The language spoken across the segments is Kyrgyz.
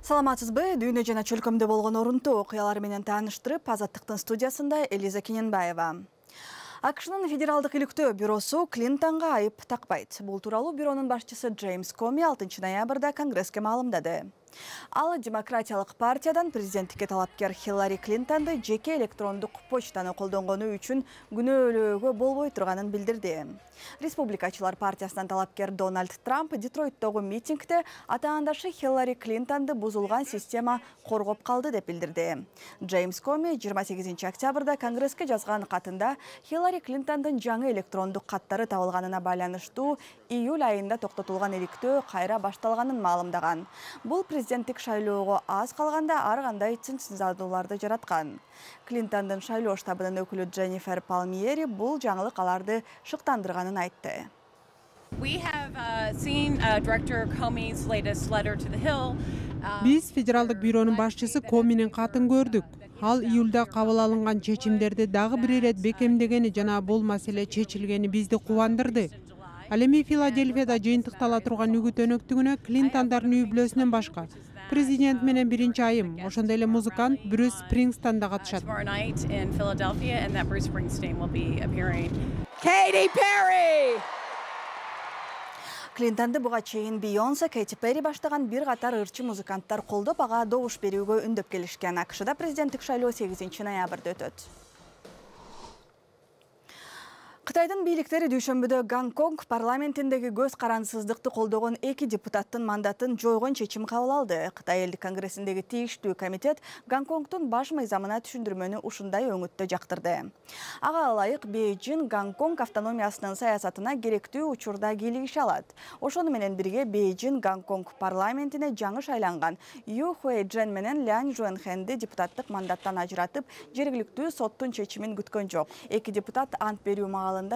Саламатсызбы? Дүйнө жана чөлкөмдө болгон орунтуу окуялар менен тааныштырып, Азаттыктын студиясында Элиза Кененбаева. АКШнын федералдык иликтөө бюросу Клинтонго айып такпайт. Бул тууралуу бюронун башчысы Джеймс Коми 6 ноябрда Конгресске маалымдады. Ал демократиялык партиядан президенттикке талапкер Хиллари Клинтонду жеке электрондук почтаны колдонгону үчүн күнөөлөөгө болбой турганын билдирди. Республикачылар партиясынан талапкер Дональд Трамп Детройттогу митингде атаандашы Хиллари Клинтонду бузулган система коргоп калды деп билдирди. Джеймс Коми 28 октябрда Конгресске жазган катында Хиллари Клинтондун жаңы электрондук каттары табылганына байланыштуу июль айында токтотулган иликтөө кайра башталганын маалымдаган. Бул президенттик шайлоого аз калганда ар кандай цинцзадууларды жараткан. Клинтондун шайлоо штабынын өкүлү Дженнифер Палмиери бул жаңылык аларды шыктандырганын айтты. Биз федералдык бюронун башчысы Коминин катын көрдүк. Ал июлда кабыл алынган чечимдерди дагы бир ирет бекемдегени жана бул маселе чечилгени бизди кубандырды. Ал эми Филадельфияда жыйынтыктала турган үгүт өнөктүгүнө Клинтондордун үй бүлөсүнөн башка президент менен биринчи айым, ошондой эле музыкант Брюс Спрингстин да катышат. Клинтонду буга чейин Бейонсе, Кэти Перри баштаган бир катар ырчы музыканттар колдоп, ага добуш берүүгө үндөп келишкен. АКШда президенттик шайлоо 8 ноябрда өтөт. Кытайдын бийликтери дүйшөмбүдө Гонконг парламентиндеги көз карансыздыкты колдогон 2 депутаттын мандатын жойгон чечим кабыл алды. Кытай элдик конгрессиндеги тийиштүү комитет Гонконгдун баш мыйзамына түшүндүрмөнү ушундай өңүттө жактырды. Ага ылайык Бейжин Гонконг автономиясынын саясатына керектүү учурда кийлигише алат. Ошону менен бирге Бейжин Гонконг парламентине жаңы шайланган Ю Хуэйжен менен Лян Жуэнхэнди депутаттык мандаттан ажыратып, жергиликтүү соттун чечимин күткөн жок. 2 депутат ант берүү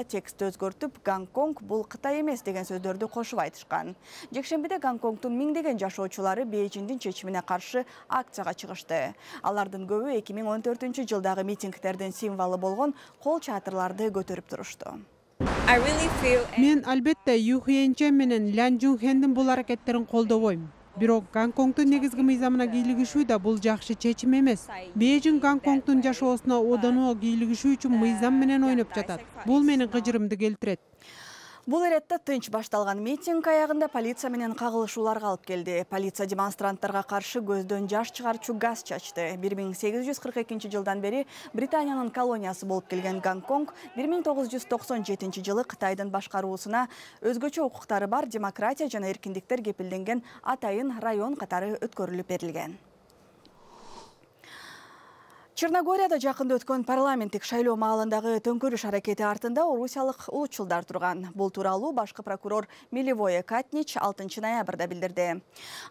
текстти өзгөртүп, Гонконг бул Кытай эмес деген сөздөрдү кошуп айтышкан. Жекшембиде Гонконгдун миңдеген жашоочулары Бейжиндин чечимине каршы акцияга чыгышты. Алардын көбү 2014 жылдагы митингдердин символу болгон кол чатырларды көтөрүп турушту. Мен албетте Ю Хуэйжен менен Лян Жуэнхэндин бул аракеттерин колдобойм. Бирок Гонконгдун негизги мыйзамына кийлигишүү да бул жакшы чечим эмес. Бейжин Гонконгдун жашоосуна одоно кийлигишүү үчүн мыйзам менен ойноп жатат. Бул менин кыжырымды келтирет. Бул эретте тынч башталган митинг аягында полиция менен кагылышууларга алып келди. Полиция демонстранттарга каршы көздөн жаш чыгарчу газ чачты. 1842 жылдан бери Британиянын колониясы болуп келген Гонконг 1997 жылы Кытайдын башкаруусуна өзгөчө укуктары бар демократия жана эркиндиктер кепилденген атайын район катары өткөрүлүп берилген. Черногорияда жакында өткөн парламенттик шайлоо маалындагы төңкөрүш аракети артында орусиялык улутчулдар турган. Бул тууралуу башкы прокурор Миливое Катнич 6 ноябрда билдирди.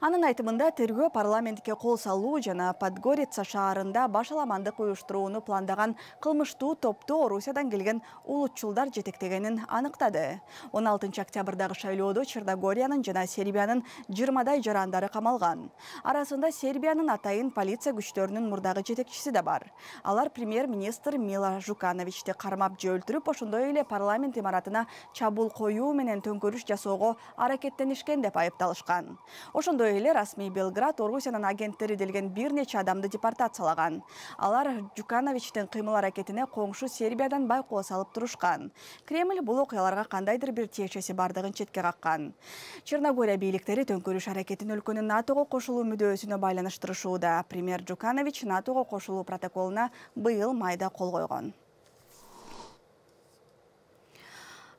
Анын айтымында тергөө парламентке кол салуу жана Подгорица шаарында башаламандык уюштурууну пландаган кылмыштуу топту Орусиядан келген улутчулдар жетектегенин аныктады. 16 октябрдагы шайлоодо Черногориянын жана Сербиянын 20дай жарандары камалган. Арасында Сербиянын атайын полиция күчтөрүнүн мурдагы жетекчиси да бар. Алар премьер-министр Мила Жукановичти кармап өлтүрүп, ошондой эле парламент имаратына чабуул коюу менен төңкөрүш жасоого аракеттенишкен деп айыпталышкан. Ошондой эле расмий Белград Орусиянын агенттери делген бир нече адамды депортациялаган. Алар Жукановичтин кыймыл аракетине коңшу Сербиядан байкоо салып турушкан. Кремль бул окуяларга кандайдыр бир тиешеси бардыгын четке каккан. Черногория бийликтери төңкөрүш аракетин өлкөнүн НАТОго кошулуу мүдөөсүнө байланыштырышууда. Премьер Жуканович НАТОго кошулуу протоколуна быйыл майда кол койгон.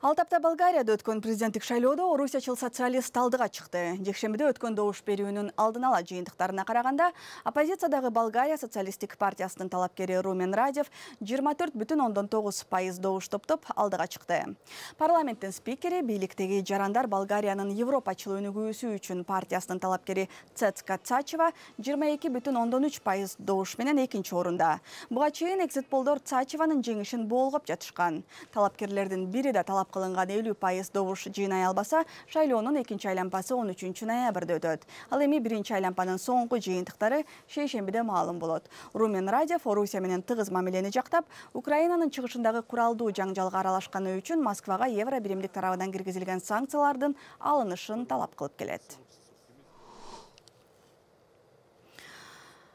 Ал тапта Болгарияда өткөн президенттик шайлоодо орусиячыл социалист алдыга чыкты. Жекшембиде өткөн добуш берүүнүн алдын ала жыйынтыктарына караганда, оппозициядагы Болгария социалисттик партиясынын талапкери Румен Радев 24,9% добуш топтоп алдыга чыкты. Парламенттин спикери бийликтеги жарандар Болгариянын европачыл өнүгүүсү үчүн партиясынын талапкери Цецка Цачева 22,3% добуш менен экинчи орунда. Буга чейин экзит-полдор Цачеванын жеңишин болгоп жатышкан. Талапкерлердин бири да талап кылынган 50% добуш жыйнай албаса, шайлоонун экинчи айланпасы 13 ноябрда өтөт. Ал эми биринчи айланпанын соңку жыйынтыктары шейшембиде маалым болот. Румен Радев Орусия менен тыгыз мамилени жактап, Украинанын чыгышындагы куралдуу жаңжалга аралашканы үчүн Москвага евро биримдик тарабынан киргизилген санкциялардын алынышын талап кылып келет.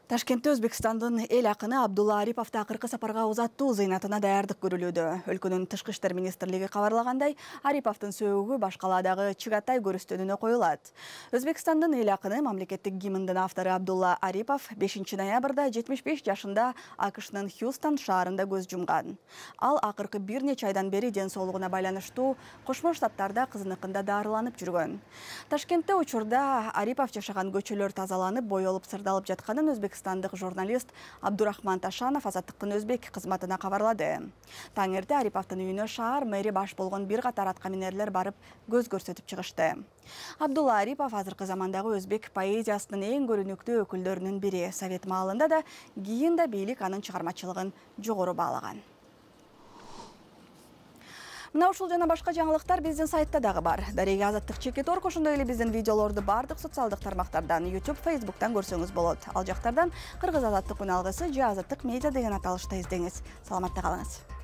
Ташкентте Өзбекстандын эл акыны Абдулла Ариповду акыркы сапарга узаттуу зыйнатына даярдык көрүлүүдө. Өлкөнүн Тышкы иштер министрлиги кабарлагандай, Ариповдун сөөгү Башкаладагы Чыгатай көрүстөнүнө коюлат. Өзбекстандын эл акыны мамлекеттик гимндин автору Абдулла Арипов 5 ноябрда 75 жашында АКШнын Хьюстон шаарында көз жумган. Ал акыркы бир нече айдан бери ден соолугуна байланыштуу Кошмо Штаттарда кызыныкында дарыланып жүргөн. Ташкентте учурда Арипов жашаган көчөлөр тазаланып, боелуп сырдалып жатканын Өзбекстандык журналист Абдурахман Ташанов Азаттыктын өзбек кызматына кабарлады. Таң эрте Ариповдун үйүнө шаар мэри баш болгон бир катар аткаминерлер барып көз көрсөтүп чыгышты. Абдулла Арипов азыркы замандагы өзбек поэзиясынын эң көрүнүктүү өкүлдөрүнүн бири. Совет маалында да, кийин да бийлик анын чыгармачылыгын жогору баалаган. Мына ушул жана башка жаңылыктар биздин сайтта дагы бар. Дарега Азаттык Чекит.org, ошондой эле биздин видеолорду бардык социалдык тармактардан, YouTube, Facebook'тан көрсөңүз болот. Ал жактардан Кыргыз Азаттык үн алгысы же Азаттык медиа деген аталышта издеңиз. Саламатта калыңыз.